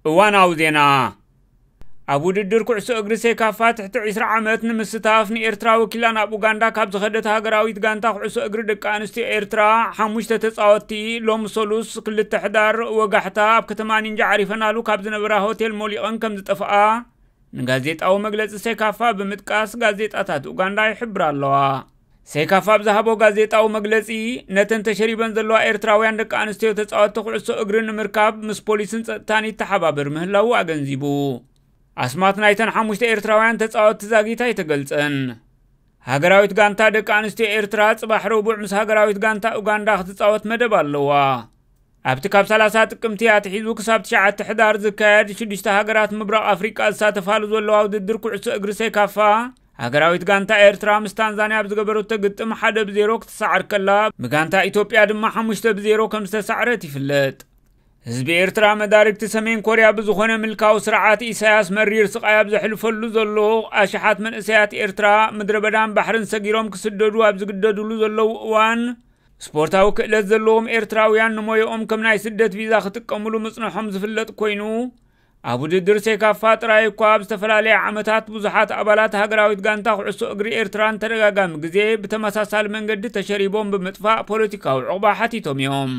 እዋናዊ ዜና። ኣብ ውድድር ኩዕሶ እግሪ ሴካፋ ትሕቲ ዕስራ ዓመት ንምስታፍ ንኤርትራ ወኪላ ናብ ኡጋንዳ ካብ ዝኸደት ሃገራዊት ጋንታ ኩዕሶ እግሪ ደቂ ኣንስትዮ ኤርትራ ሓሙሽተ ተጻወትቲ ሎም ሰሉስ ክልተ ሕዳር ወጋሕታ ኣብ ከተማ ኒንጃ ዓሪፈናሉ ካብ ዝነበራ ሆቴል ሞሊቐን ከም ዝጠፍኣ ንጋዜጣዊ መግለጺ ሴካፋ ብምጥቃስ ጋዜጣታት ኡጋንዳ ይሕብራ ኣለዋ። ሴካፋ ኣብ ዝሃቦ ጋዜጣዊ መግለጺ፣ ነተን ተሸሪበን ዘለዋ ኤርትራውያን ደቂ ኣንስትዮ ተጻወትቲ ኩዕሶ እግሪ ንምርካብ ምስ ፖሊስን ጸጥታን ይተሓባበር ምህላዉ ኣገንዚቡ። ኣስማት ናይተን ሓሙሽተ ኤርትራውያን ተጻወትቲ ዛጊት ኣይተገልጸን። ሃገራዊት ጋንታ ደቂ ኣንስትዮ ኤርትራ ጽባሕ ረቡዕ ምስ ሃገራዊት ጋንታ ኡጋንዳ ክትጻወት መደብ ኣለዋ። ኣብቲ ካብ ሰላሳ ጥቅምቲ ኣትሒዙ ክሳብ ትሽዓተ ሕዳር ዝካየድ ሽዱሽተ ሃገራት ምብራቕ ኣፍሪቃ ዝሳተፋሉ ዘለዋ ውድድር ኩዕሶ እግሪ ሴካፋ፣ ሃገራዊት ጋንታ ኤርትራ ምስ ታንዛንያ ኣብ ዝገበረቶ ግጥም ሓደ ብ ዜሮ ክትሰዓር ከላ፣ ብጋንታ ኢትዮጵያ ድማ ሓሙሽተ ብ ዜሮ ከም ዝተሳዕረት ይፍለጥ። ህዝቢ ኤርትራ መዳርግቲ ሰሜን ኮርያ ብዝኾነ ምልካዊ ስርዓት ኢሳያስ መሪር ስቓይ ኣብ ዘሕልፈሉ ዘሎ፣ ኣሽሓት መንእሰያት ኤርትራ ምድረ በዳን ባሕርን ሰጊሮም ክስደዱ ኣብ ዝግደድሉ ዘለዉ እዋን፣ ስፖርታዊ ክእለት ዘለዎም ኤርትራውያን ንሞያኦም ከም ናይ ስደት ቪዛ ክጥቀምሉ ምጽንሖም ዝፍለጥ ኮይኑ፣ ኣብ ውድድር ሴካፋ ጥራይ እኳ ኣብ ዝተፈላለየ ዓመታት ብዙሓት ኣባላት ሃገራዊት ጋንታ ኩዕሶ እግሪ ኤርትራን ተደጋጋሚ ግዜ ብተመሳሳሊ መንገዲ ተሸሪቦም ብምጥፋእ ፖለቲካዊ ዕቑባ ሓቲቶም እዮም።